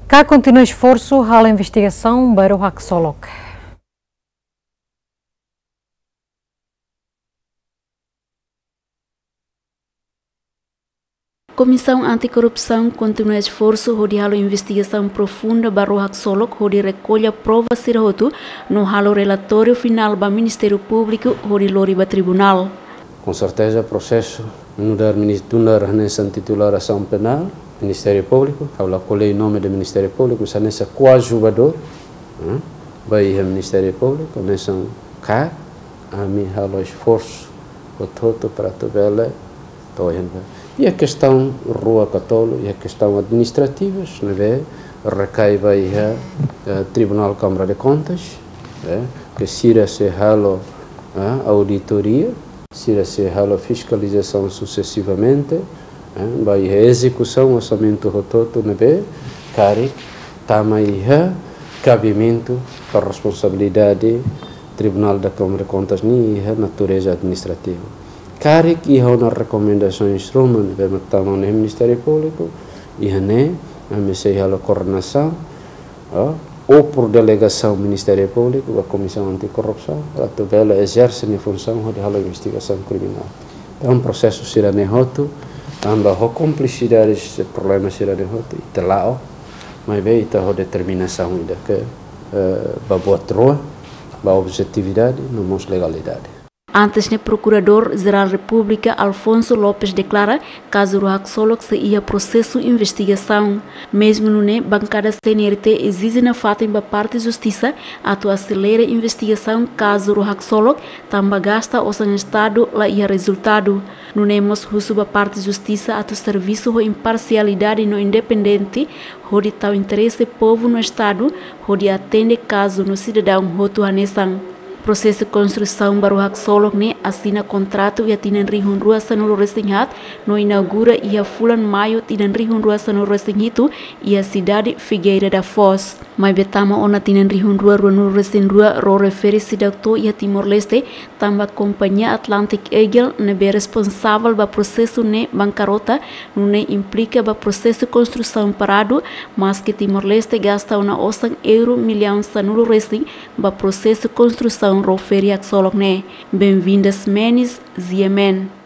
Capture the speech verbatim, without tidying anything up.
KAK kontinua esforsu halo investigasaun ba ró haksolok. Komisaun Antikorrupsaun kontinua esforsu hodi halo investigasaun profunda ba ró haksolok hodi rekolla prova sira hotu no halo relatóriu finál ba Ministériu Públiku hodi lori ba tribunál. Com certeza, prosesu nu'udar minis-, nu'udar hanesan titulár asaun penál, Ministériu Públiku, ha'u la ko'alia nome de Ministériu Públiku, mas hanesan koadjuvadór, eh, ba iha Ministériu Públiku, hanesan KAK, ami halo esforsu hotu-hotu para atu bele to'o iha ne'ebá. Iha kestaun rua ka tolu, iha kestaun administrativas, ne'ebé rekai ba iha, eh, Tribunál Câmara de Contas, eh, ke sira sei halo, eh, auditoria, sira sei halo fiskalizasaun sucessivamente, eh, ba iha ezekusaun orsamentu hotu-hotu ne'ebé karik tama iha kabimentu ka responsabilidade Tribunál da Câmara de Contas nian iha natureza administrativa. Karik iha ona rekomendasaun ruma ne'ebé mak tama ona iha Ministériu Públiku, iha ne'e, ami sei halo koordenasaun, ah, ou por delegasaun Ministériu Públiku ba Komisaun Antikorrupsaun, para atu bele ezerse nia funsaun hodi halo investigasaun kriminál. Entaun, prosesu sira-ne'e hotu, tanba ho komplisidade problema sira-ne'e hotu, ita la'o, maibé ita ho determinasaun ida ke, eh, ba buat rua, ba objetividade, no mós legalidade. Antes ne'e, Prokuradór Jerál Repúblika Alfonso Lopes deklara kazu ró haksolok sei iha prosesu investigasaun. Mezmu nune'e, bankada CNRT ezije nafatin ba parte justisa atu aselera investigasaun kazu ró haksolok, tanba gasta osan Estadu la iha rezultadu. Nune'e mós husu ba parte justisa atu servisu ho imparsialidade no independente, hodi tau interese povu no Estadu, hodi atende kazu no sidadaun hotu hanesan. Prosesu konstrusaun ba ró haksolok ne'e asina kontratu iha tinan rihun rua sanulu-resin-haat no inaugura iha fulan Maiu tinan rihun rua sanulu-resin-hitu iha sidade Figueira da Foz. Maibé tama ona tinan rihun rua ruanulu-resin-rua, ró refere seidauk to'o iha Timor-Leste, tanba kompañia Atlantic Eagle ne'ebé responsavel ba prosesu ne'e bankarota, nune'e implika ba prosesu konstrusaun paradu, maske Timor-Leste gasta ona osan euro millaun sanulu-resin ba prosesu konstrusaun ró feri haksolok ne'e. Benvinda Ximenes, G M N.